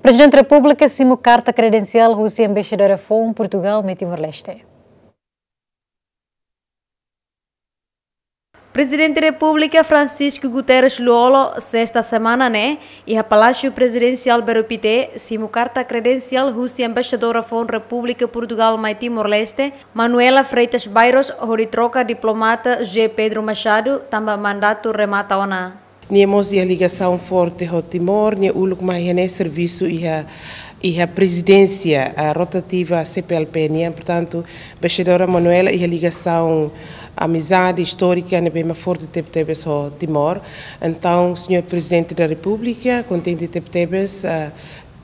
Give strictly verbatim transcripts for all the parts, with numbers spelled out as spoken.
Prezidente Repúblika simu karta kredensiál husi Embaixadora foun Portugal mai Timor-Leste. Prezidente Repúblika Francisco Guterres Lú-Olo, sesta semana ne'e, iha Palásiu Prezidensiál Belo Pité, simu karta kredensiál husi Embaixadora foun Repúblika Portugal mai Timor-Leste, Manuela Freitas Bairros, hodi troka diplomata José Pedro Machado, tanba mandatu remata ona. Nia mós iha ligasaun forte ho Timor, nia uluk mai iha ne'e servisu iha, iha prezidénsia, ah, rotativa C P L P nian. Portantu, Embaixadora Manuela iha ligasaun amizade istórika ne'ebé mak forte tebetebes ho Timor. Entaun, Señór Prezidente da Repúblika, kontente tebetebes, ah,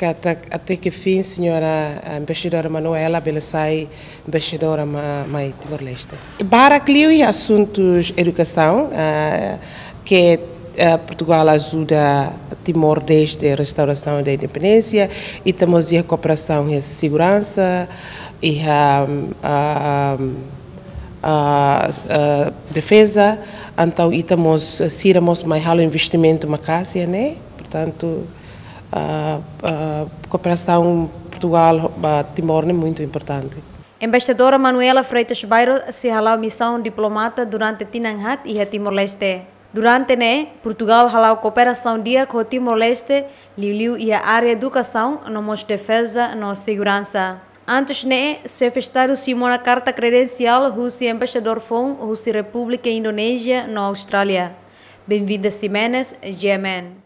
katak até ke fin Señora, ah, Embaixadora Manuela bele sai embaixadora ma-, mai Timor-Leste. Barak liu iha asuntus edukasaun, ah, ke, ah, Portugal ajuda Timor dezde restaurasaun da independénsia, ita mós iha kooperasaun iha seguransa, iha, ah, ah, ah, defeza, entaun ita mós, sira mós mai halo investimentu maka'as iha ne'e, portantu, ah, ah, kooperasaun Portugal ba Timor ne'e muitu importante. Embaixadora Manuela Freitas Bairros sei hala'o misaun diplomata durante tinan haat iha Timor-Leste. Durante ne'e, Portugal hala'o kooperasaun di'ak ho Timor-Leste, liuliu iha área edukasaun, no mós defeza no seguransa. Antes ne'e, Xefe Estadu simu ona karta kredensiál husi embaixadór foun husi Repúblika Indonézia no Austrália, Benvinda Ximenes, G M N.